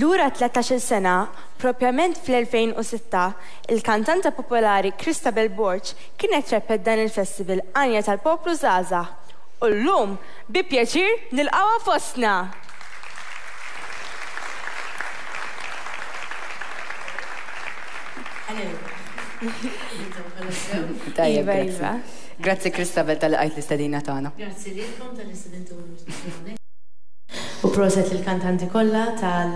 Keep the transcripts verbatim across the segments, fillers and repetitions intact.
Lura tlettax-il sena, propjament fl-elfejn u sitta, il-kantanta popolari Christabel Borg kienet rebħet dan il-festival Għanja tal-Poplu Żgħażagħ. U llum, bi pjaċir, nilqgħuha fostna! Tajjeb, grazzi. Grazzi Christabel tal-li qajt l-istedina tagħna. Grazzi lilkom tal-istedintuni. U proset lill-kantanti kollha tal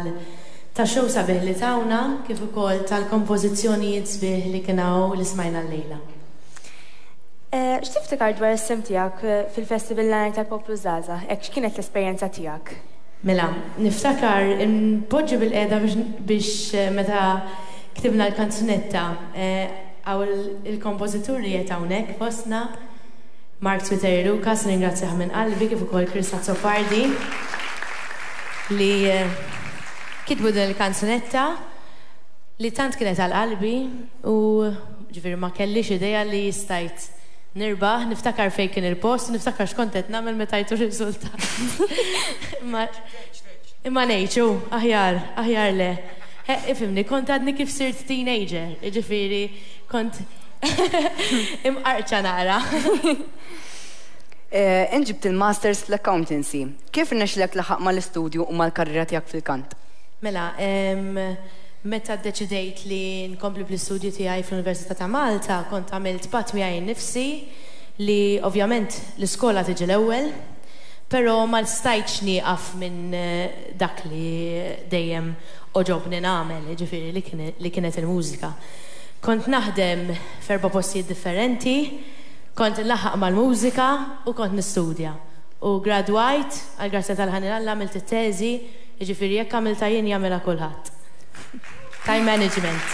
tax-show sabiħ li tawna, kif ukoll tal-kompożizzjonijiet sbieħ li kien hawn li smajna llejla. X'tiftakar dwar is-sehem tiegħek fil-Festival L-Għanja tal-Poplu Żgħażagħ? Hekk x'kienet l-esperjenza tiegħek? Mela, niftakar npoġġi bil-qiegħda biex meta ktibna l-kanzunetta hawn il-kompożitur li qed hawnhekk fostna, Mark Spiteri Lucas, ringrazzjah minn qalbi, kif ukoll Chris Azzopardi li kitbu din il-kanzunetta li tant kienet għal qalbi u ġifieri ma kellix idea li stajt nirbaħ, niftakar fejn kien il-post, niftakar x'kont qed nagħmel meta tajtu riżultat. Imma ngħidxu, aħjar, aħjar le. Ifhimni, kont għadni kif sirt teenager, jiġifieri kont imqarċa naqra. Int ġibt il-Masters fl-Accountancy. Kif irnexxilek tlaħħaq mal-istudju u mal-karriera tiegħek fil-kant? Mela, meta ddeċidejt li nkompli bl-istudju tiegħi fl-Università ta' Malta, kont għamilt patt miegħi nnifsi li ovvjament l-iskola tiġi l-ewwel, però ma stajtx nieqaf minn dak li dejjem oġobni nagħmel, jiġifieri li kienet il-mużika. Kont naħdem f'erba' postijiet differenti, kont nlaħħaq mal-mużika u kont nistudja. U gradwajt, għal grazzja tal-ħanin Alla għamilt it-teżi, jiġifieri jekk għamiltha jien jagħmilha kulħadd. Time management.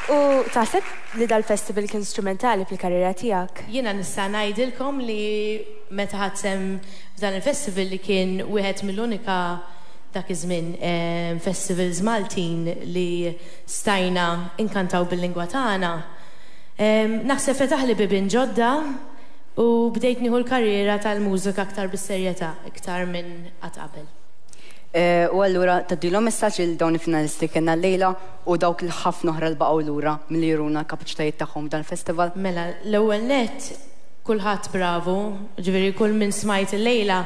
U taħseb li dal-festival kien strumentali fil-karriera tiegħek? Jiena nista' ngħidilkom li meta ħadt sehem f'dan il-festival li kien wieħed mill-unika dak iż-żmien festivals Maltin li stajna inkantaw bil-lingwa tagħna. Naħseb fetaħli bibien ġodda u bdejt nieħu l-karriera tal-mużika aktar bis-serjetà, iktar minn qatt qabel. U allura tgħaddilhom messaġġ lil dawn il-finalisti kellna llejla u dawk il-ħafna oħra li baqgħu lura milli juruna l-kapaċitajiet tagħhom f'dan il-festival? Mela, l-ewwel nett kulħadd bravu, ġifieri kull min smajt illejla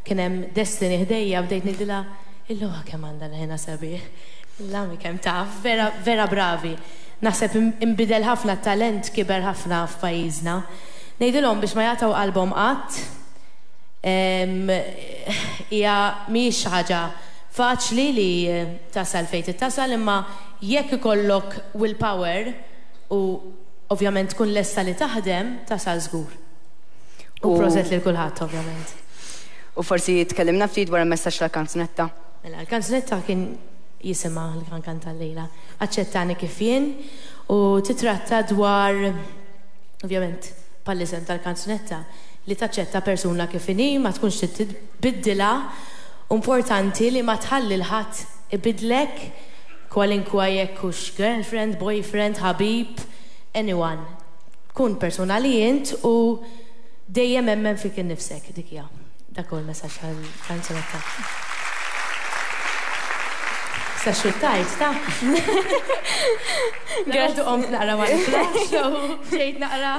kien hemm Destiny ħdejja bdejt ngħidilha illowha kemm għandha l-ħena sabiħ, l-għami kemm taf, vera vera bravi. Naħseb inbidel ħafna t-talent, kiber ħafna f'pajjiżna. Ngħidilhom biex ma jagħtaw qalbhom qatt, hija mhijiex xi ħaġa faċli li tasal fejn tittasal, imma jekk ikollok willpower u ovvjament tkun lesta li taħdem, tasal żgur. U proset lil kulħadd ovvjament. U forsi tkellimna ftit dwar il-messaġġ tal-kanzunetta? Mela, l-kanzunetta kien jisimha l-kankanta llejla, Aċċettani kif jien, u titratta dwar, ovvjament, bħall-isem tal-kanzunetta, li taċċetta persuna kif inhi, ma tkunx trid tbiddilha, importanti li ma tħalli l-ħadd ibidlek, kwalinkwa jekk hux girlfriend, boyfriend, ħabib, anyone. Kun persuna li int u dejjem emmen fik innifsek, dik hija. Dak huwa l-messaġġ tal-kanzunetta. Sa xuttajt, ta? Grazzi. Qomt naqra mal-flash, u ġejt naqra.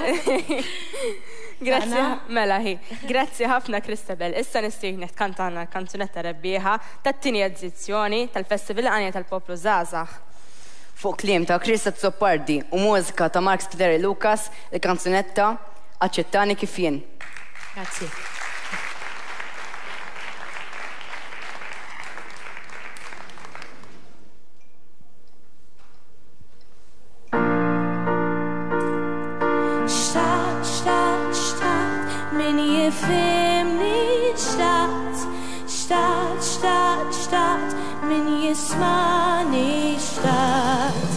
Grazzi, mela hi. Grazzi ħafna Christabel. Issa nistiednek tkantana l-kanzunetta rebbieħa tat-tieni edizzjoni tal-Festival Għanja tal-Poplu Żgħażagħ. Fuq kliem ta' Chris Azzopardi u mużika ta' Mark Spiteri Lucas, il-kanzunetta Aċċettani kif jien. Grazzi. Xtaqt, xtaqt, xtaqt, min jifhimni, xtaqt, xtaqt, xtaqt, xtaqt, min jismani, xtaqt.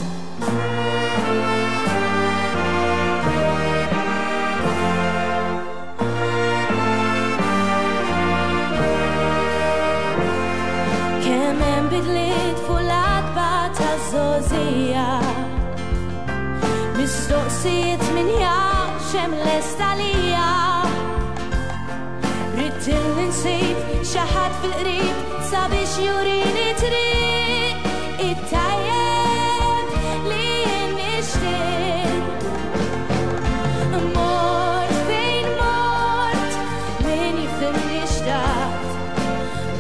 Kemm hemm bidliet fuq l-għatba taż-żgħożija, mistoqsijiet min jaf x'hemm lest għalija. Ridt li nsib xi ħadd fil-qrib sabiex jurini triq it-tajjeb li jien nixtieq. Mort fejn mort, min jifhimni xtaqt.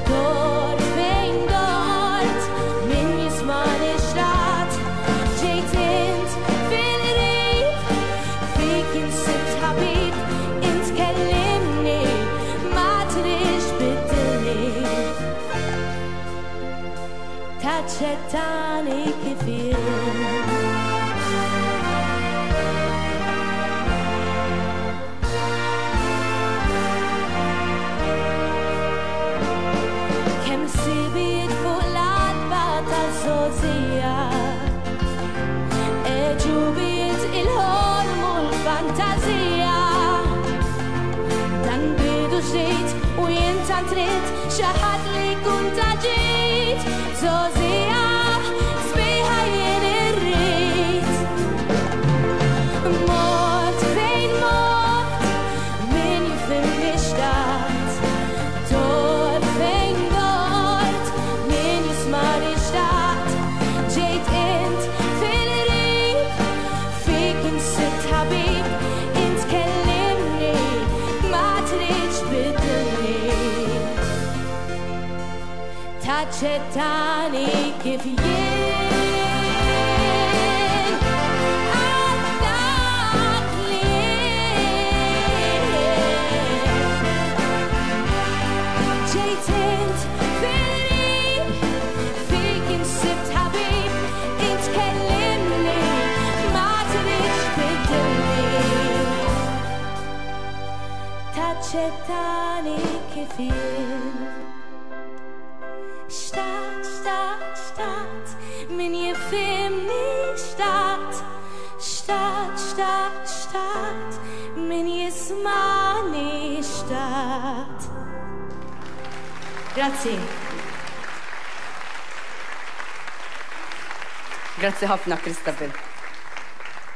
Dort fejn dort, min jismani xtaqt. Ġejt int fil-qrib, fik insibt ħabib, int kellimni, ma tridx tbiddilni. Taċċettani kif jien. Kemm sibiet fuq l-għatba taż-żgħożija, għeġubiet il-ħolm u l-fantażija. Dan bidu ġdid u jien tant ridt xi ħadd li jkun ta' ġid. Żgħożija sbieħa jien irrid. Mort fejn mort, min jifhimni xtaqt. Dort fejn dort, min jismani xtaqt. Ġejt int fil-qrib, fik insibt ħabib, int kellimni, ma tridx tbiddilni. Taċċettani kif jien. Għal dak li jien. Ġejt int fil-qrib, fik insibt ħabib, int kellimni, ma tridx tbiddilni. Taċċettani kif jien. Xtaqt, xtaqt, xtaqt, min jifhimni xtaqt. Xtaqt, xtaqt, xtaqt, min jismani xtaqt. Grazzi. Grazzi ħafna, Christabel.